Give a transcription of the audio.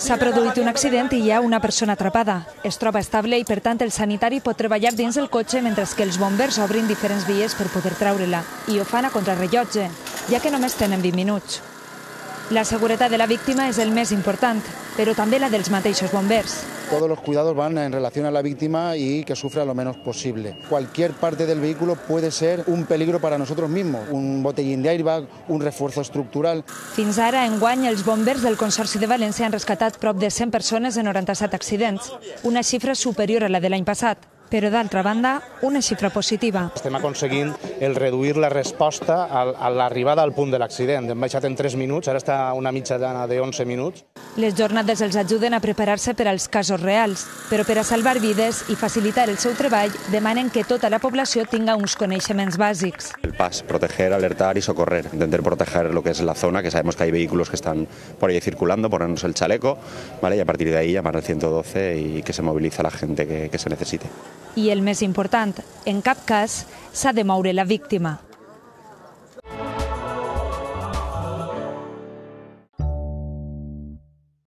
S'ha produït un accident i hi ha una persona atrapada. Es troba estable i, per tant, el sanitari pot treballar dins el cotxe mentre que els bombers obrin diferents vies per poder treure-la. I ho fan a contrarrellotge, ja que només tenen 20 minuts. La seguretat de la víctima és el més important, però també la dels mateixos bombers. Todos los cuidados van en relación a la víctima y que sufra lo menos posible. Cualquier parte del vehículo puede ser un peligro para nosotros mismos, un botellín de airbag, un refuerzo estructural. Fins ara, enguany, els bombers del Consorci de València han rescatat prop de 100 persones en 97 accidents, una xifra superior a la de l'any passat. Però, d'altra banda, una xifra positiva. Estem aconseguint el reduir la resposta a l'arribada al punt de l'accident. Hem baixat en 3 minuts, ara està una mitjana de 11 minuts. Les jornades els ajuden a preparar-se per als casos reals, però per a salvar vides i facilitar el seu treball demanen que tota la població tinga uns coneixements bàsics. El PAS, proteger, alertar y socorrer. Intentar proteger lo que es la zona, que sabemos que hay vehículos que están por ahí circulando, ponernos el chaleco, ¿vale? Y a partir de ahí llamar al 112 y que se movilice a la gente que se necesite. I el més important, en cap cas s'ha de moure la víctima.